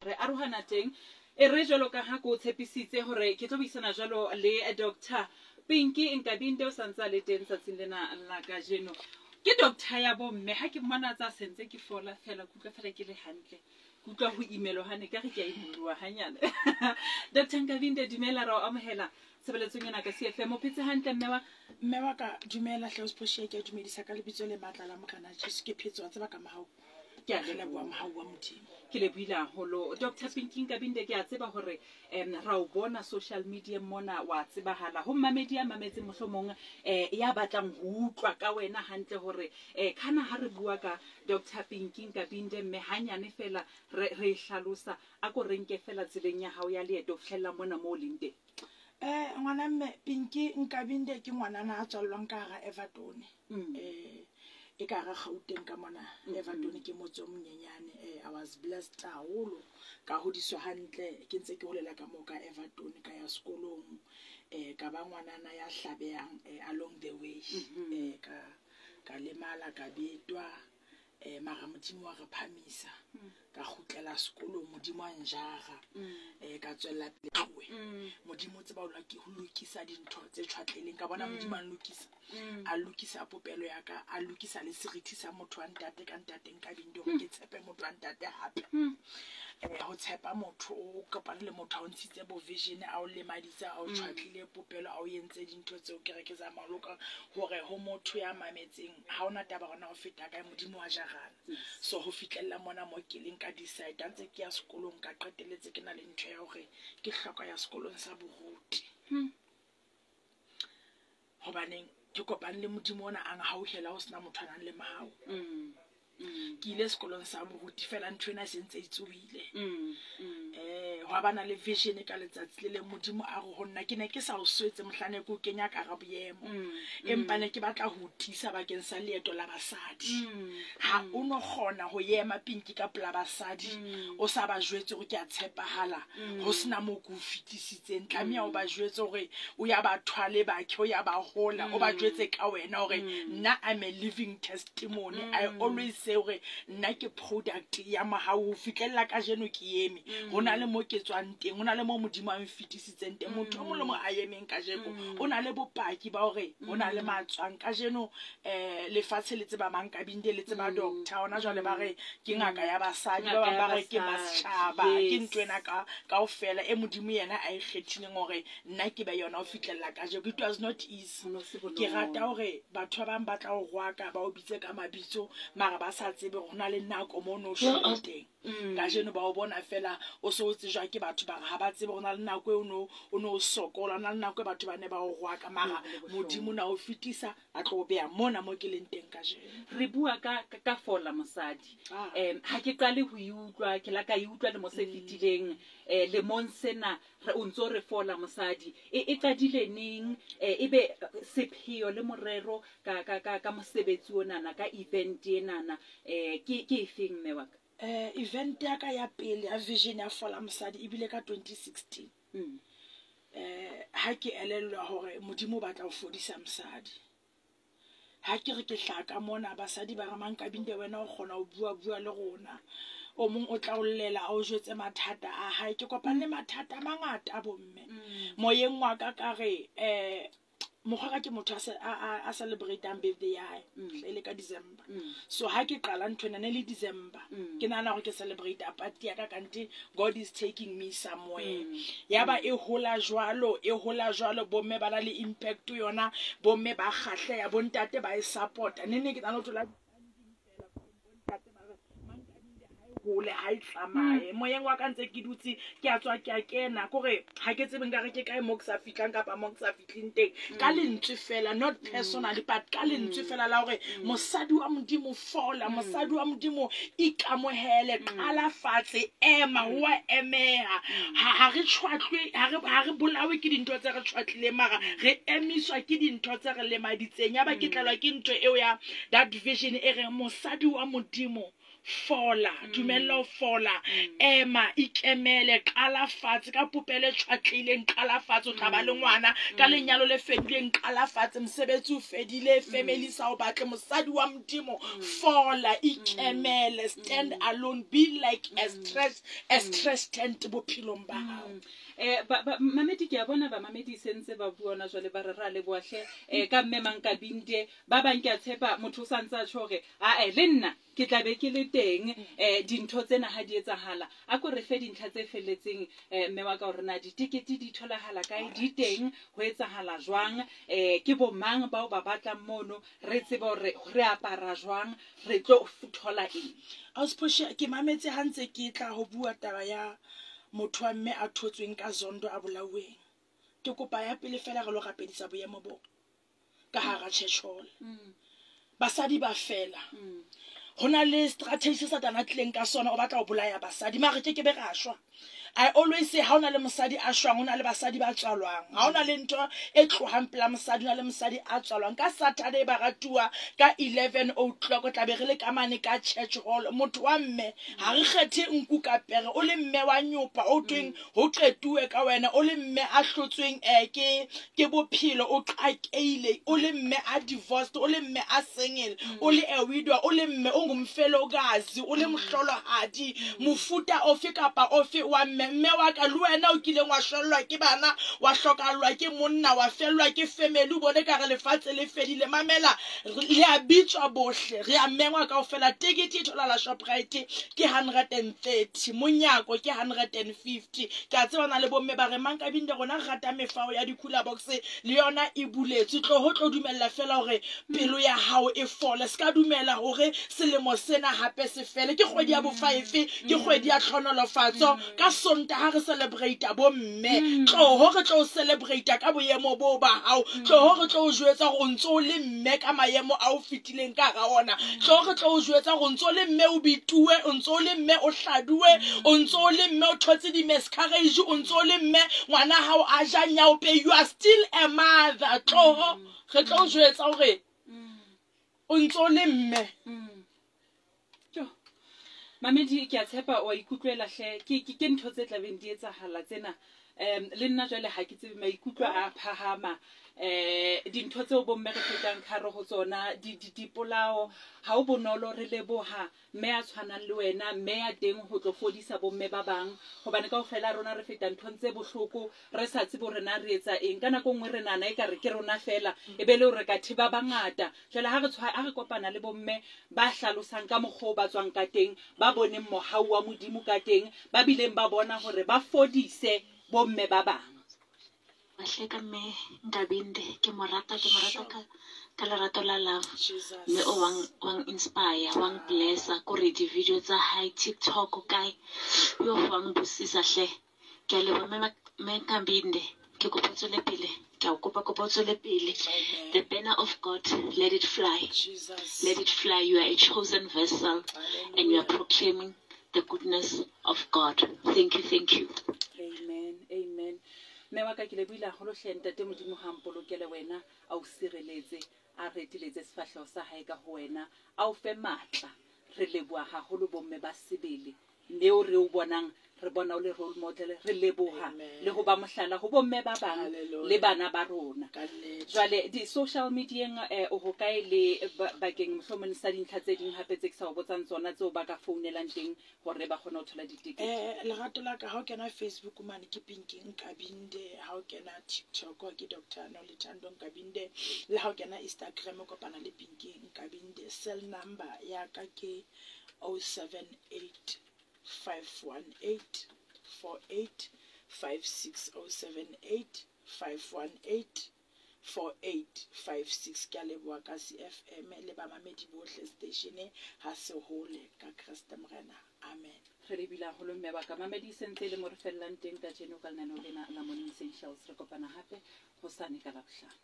Re arohana teng. E re jwalo ka ha ke o tshepisitse hore ke tlo buisana jwalo le Doctor Pinky Nkabinde, o sa ntse a le teng tsatsing lena la kajeno. Ke doctor ya bomme, ha ke mmona tsa sentse ke fola fela, ke utlwa fela ke le hantle. Ke utlwa ho imelwa hane ka re ke a imoloha hanyane. Doctor Nkabinde, dumela, ra o amohela tshebeletsong ena ka CFM. O phetse hantle mme wa? Mme wa ka, dumela hle, Ausi ke a dumedisa ka lebitso le matla la Morena Jesu. Ke phetse wa tseba ka mohau. Ke a Re leboha leboha. mohau wa Modimo. Ke lebohile haholo. Dr. Pinky Nkabinde, ke a tseba hore ra o bona social media mona, wa tsebahala ho mmamedi ya mametseng mohlomong ya batlang ho utlwa ka wena hantle hore kana ha re bua ka Dr. Pinky Nkabinde mme hanyane fela re re e hlalosa, a ko re nke fela tseleng ya hao ya leeto ho fihlella mona moo o leng teng. Ngwana mme Pinky Nkabinde ke ngwanana a tswallwang ka hara Everton. E ka hara Gauteng ka mona. Everton ke motse o monyenyane. I was blessed haholo, ka hodiswa hantle, ke ntse ke holela ka moo ka Everton, ka ya sekolong, ka ba ngwanana ya hlabehang along the way. Ka lemala, ka betwa, mara Modimo wa re phamisa. Ka kgutlela sekolong, Modimo a njara. Ka tswella pele. Modimo o tseba ho ho lokisa dintho tse tjhwatleleng. Ka bona Modimo a nlokisa. A lokisa popelo ya ka, a lokisa le serithi sa motho wa ntate ka ntate Nkabinde hore ke tshepe motho wa ntate hape. Ho tshepa motho, o kopane le motho a o ntshitse bo vision, a o lemaditse, a o tjhwatlile popelo, a o entse dintho tseo ke re ke zama ho loka hore ho motho ya mametseng ha ona taba hore na o feta kae, Modimo wa jarana. So ho fihlella mona mo ke leng ka decide, ha ntse ke ya sekolong ka qetelletse ke na le ntho ya hore ke hloka ya sekolong sa boruti. Hobaneng ke kopane le Modimo ona a nhauhela ho sena motho a nang le mahau. Ke ile sekolong sa boruti fela ntho ena e se ntse e tsohile. Hwa bana le vision ka letsatsi le leng Modimo a re ho nna, ke ne ke sa o swetse mohlane ke o kenya ka hara boemo. Empa ne ke batla ho o tiisa bakeng sa leeto la basadi. Ha o no kgona ho ema Pinky ka pela basadi, o sa ba jwetse hore ke a tshepahala, ho sena moo ke o fetisitseng. Tlameha o ba jwetse hore o ya ba thwale bakhe, o ya ba hola, o ba jwetse ka wena hore nna I'm a living testimony. I always say hore nna ke product ya mohau ho fihlella kajeno ke eme. Ho na le mo ke tswang teng, ho na le mo Modimo a nfetisitseng teng. Motho o mong le mong a emeng kajeko o na le bopaki ba hore ho na le matswang kajeno. Lefatshe le tseba mang Nkabinde, le tseba doctor hona jwale ba re ke ngaka ya basadi, ba bang ba re ke masetjhaba, ke ntho ena ka kaofela e Modimo yena a e kgethileng hore nna ke be yona ho fihlella kajeko. It was not easy. Ke rata hore batho ba bang ba tla o rwaka, ba o bitse ka mabitso, mara ba sa tsebe hore ho na le nako mo no shwele teng. Kajeno ba o bona fela o so o tsejwa ke batho, ba re ha ba tsebe ho na le nako e o no sokola, ho na le nako e batho ba ne ba o rwaka, mara Modimo na o fetisa a tlo o beha mona mo ke leng teng kajeno. Re bua ka fola mosadi. Ha ke qale ho e utlwa, ke la ka e utlwa lemo se fetileng, lemong sena re o ntso re fola mosadi. E qadile neng, ebe sepheo le morero ka mosebetsi onana, ka event enana, ke efeng mme wa ka? Event ya ka ya pele ya vision ya fola mosadi ebile ka 2016. Ha ke elellwa hore Modimo o batla ho fodisa mosadi. Ha ke re ke hlaka mona, basadi ba re Mankabinde wena o kgona ho bua bua le rona. O mong o tla o llela a o jwetse mathata a hae. Ke kopane le mathata a mangata bomme. Moyeng wa ka ka re, mokgwa ka ke motho a celebrate-ang birthday ya hae, e le ka December. So ha ke qala ntho ena ne le December. Ke nahana hore ke celebrate party ya ka, kante God is taking me somewhere. Ya ba e hola jwalo, e hola jwalo, bomme ba na le impact yona, bomme ba kgahleha, bontate ba e support-a. Ne ne ke nahana ho thola hole ha e tsamaye. Moyeng wa ka ntse ke dutse, ke a tswa ke a kena, kore ha ke tsebe nkare ke kae mo ke sa fihlang kapa mo ke sa fihleng teng. Ka lentswe fela, not personally, but ka lentswe fela la hore mosadi wa Modimo fola, mosadi wa Modimo ikamohele, qala fatshe, ema, ho wa emeha. Ha re tjhwatlwe, ha re bolawe ke dintho tse re tjhwatlileng, mara re emiswa ke dintho tse re lemaditseng. Ya ba ke tlelwa ke ntho eo ya that vision e reng mosadi wa Modimo Fola, dumella ho fola, ema, ikemele, qala fatshe ka popelo e tjhwatlehileng, qala fatshe, o tla ba le ngwana ka lenyalo le fedileng, qala fatshe, mosebetsi o fedile, family sa o batle, mosadi wa Modimo, fola, ikemele, stand alone, be like a stress tent bophelong ba hao. Mamedi ke a bona bamamedi se ntse ba bua hona jwale, ba re ra leboha hle, ka mme Mankabinde. Ba bang ke a tshepa motho o sa ntse a tjho hore ae le nna ke tla be ke le teng, dintho tsena ha di etsahala. A ko re fe dintlha tse felletseng, mme wa ka, hore na ditekete di tholahala kae, di teng, ho etsahala jwang, ke bo mang bao ba batlang mono, re tsebe hore re apara jwang, re tlo thola eng. Ausi, ke mametse ha ntse ke tla ho bua taba ya motho wa mme a thotsweng ka Zondo a bolauweng. Ke kopa ya pele fela re lo rapedisa boemo bo ka hara church hall. Basadi ba fela. Ho na le strategy se Satana a tlileng ka sona, o batla ho bolaya basadi, mare ke ke be ra shwa. I always say, ha o na le mosadi a shwang, ho na le basadi ba tswalwang. Ha o na le ntho e tlohang pela mosadi, ho na le mosadi a tswalwang. Ka Saturday baratuwa, ka 11 o'clock tla be re le ka mane ka church hall. Motho wa mme, ha re kgethe nku ka pere, o le mme wa nyopa, o tweng ho qetuwe ka wena, o le mme a hlotsweng ke bophelo, o qakeile, o le mme a divorced, o le mme a single, o le a widow, o le mme o ngumfelokazi, o le mohlolohadi, mofuta ofe kapa ofe wa mme, mme wa ka le wena o kileng wa shwellwa ke bana, wa hlokahallwa ke monna, wa fellwa ke family, o bone ka re lefatshe le fedile. Mamela, le a bitswa bohle, re a mengwa kaofela. Tekete e tholahala Shoprite ke 130, monyako ke 150. Ke a tseba na le bomme ba re Mankabinde, rona re rata mefao ya di-cooler box, le yona e buletswe. Tlo ho tlo dumella fela hore pelo ya hao e fole, se ka dumela hore selemo sena hape se fele. Ke kgwedi ya bo-five, ke kgwedi ya tlhonolofatso. Ka Sontaha re celebrate bomme, tloho re tlo celebrate ka boemo bo ba hao, tloho re tlo o jwetsa hore o ntso o le mme ka maemo a o fetileng ka hara ona, tloho re tlo o jwetsa hore o ntso o le mme o bituwe, o ntso o le mme o hladuwe, o ntso o le mme o thotse di-miscarriage, o ntso o le mme ngwana hao a ja nyaope, you are still a mother. Tloho re tlo o jwetsa hore o ntso o le mme. Jo. Mamedi, ke a tshepa wa ikutlwela hle, ke ntho tse tlabeng di etsahala tsena. Le nna jwale ha ke tsebe, maikutlo a phahama, dintho tseo bomme re fetang ka hare ho tsona, dipolao, ha o bonolo. Re leboha mme a tshwanang le wena, mme ya teng ho tlo fodisa bomme ba bang, hobane kaofela rona re feta nthong tse bohloko, re sa tsebe hore na re etsa eng. Ka nako e nngwe re nahana ekare ke rona fela, e be le hore ka thiba bangata. Jwale ha re kopana le bomme ba hlalosang ka mokgwa o ba tswang ka teng, ba boneng mohau wa Modimo ka teng, ba bileng ba bona hore ba fodise bomme ba bang. Mahleka mme Nkabinde, ke mo rata ka lerato la love. Jesus. Mme o wang inspire, wang blessa, kore di-video tsa hae TikTok kae yo, wang busisa hle. Ke a leboha mme Nkabinde, ke kopa o tswele pele, ke a o kopa o tswele pele. Amen. The banner of God, let it fly. Jesus. Let it fly. You are a chosen vessel and you are proclaiming the goodness of God. Thank you, thank you. Amen, amen. Mme wa ka, ke lebohile haholo hle. Ntate Modimo ha mpolokele wena, a o sireletse, a reteletse sefahleho sa hae ka ho wena, a o fe matla. Re leboha haholo bomme ba sebele, mme o re o bonang, re bona o le role model. Re leboha Amen. le ho ba mohlala ho bomme ba bang Hallelujah. le bana ba rona. Ka nnete. Jwale di-social medieng, o hokae le bakeng mohlomong sa dintlha tse ding hape tse ke sa o botsang tsona, tseo ba ka founelang teng hore ba kgone ho thola ditekete? Lerato la ka, ha o kena Facebook mane ke Pinky Nkabinde, ha o kena TikTok ke Dr Nolithando Nkabinde, le ha o kena Instagram o kopana le Pinky Nkabinde. Cell number ya ka ke 078 518 48 56, 078 518 4856. Ke a leboha ka CFM le bamamedi bohle station ha se hole ka Kreste Morena, amen. Re lebile haholo, mme wa ka. Mamedi, se ntse e le mo re fellang teng kajeno ka lenaneo lena la Morning Essentials. Re kopana hape hosane ka Labohlano.